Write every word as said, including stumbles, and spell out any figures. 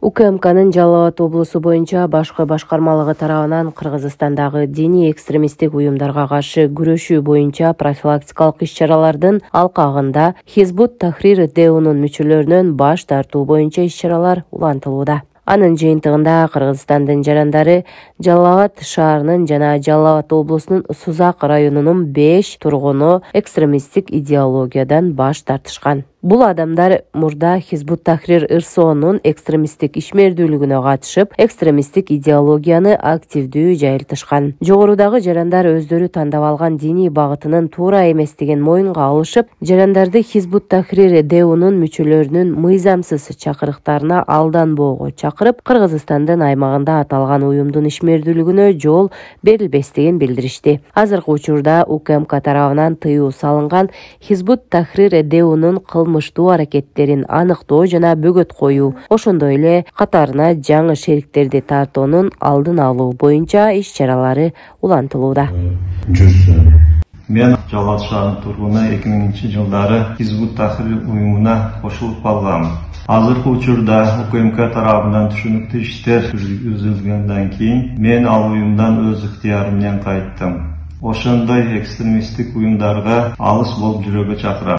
УКМКнын Жалал Абад облусу боюнча башкы башкармалыгы тарабынан Кыргызстандагы диний экстремисттик уюмдарга каршы күрөшүү боюнча профилактикалык иш-чаралардын алкагында Хизбут Тахрир ДЭУнун мүчөлөрүнөн баш тартуу боюнча иш-чаралар улантылууда. Анын жыйынтыгында Кыргызстандын жарандары Жалал Абад шаарынын жана Жалал Абад облусунун Сузак районунун беш тургуну экстремисттик идеологиядан баш тартышкан. Бул адамдар мурда Хизбут Тахрир ырсоонун экстремисттик ишмердүүлүгүнө катышып, экстремисттик идеологияны активдүү жайылтышкан. Жогорудагы жарандар өздөрү тандап алган диний багытынын туура эместигин моюнга алышып, жарандарды Хизбут Тахрир ДЭУнун мүчөлөрүнүн мыйзамсыз чакырыктарына алданбоого чакырып, Кыргызстандын аймагында аталган уюмдун ишмердүүлүгүнө жол берилбестигин билдиришти. Азыркы учурда УКМК тарабынан тыюу салынган Хизбут Тахрир ДЭУнун кылмыштуу аракеттерин аныктоо жана бөгөт коюу, ошондой эле катарына жаңы шериктерди тартуунун алдын алуу боюнча иш-чаралары улантылууда. Мен Жалал шаарынын тургуну эки миңинчи жылдары Хизбут Тахрир уюмуна кошулуп калгам. Азыркы учурда УКМК тарабынан түшүнүктүү иштер жүргүзүлгөндөн кийин мен ал уюмдан өз ыктыярым менен кайттым. Ошондой экстремисттик уюмдарга алыс болуп жүрүүгө чакырам.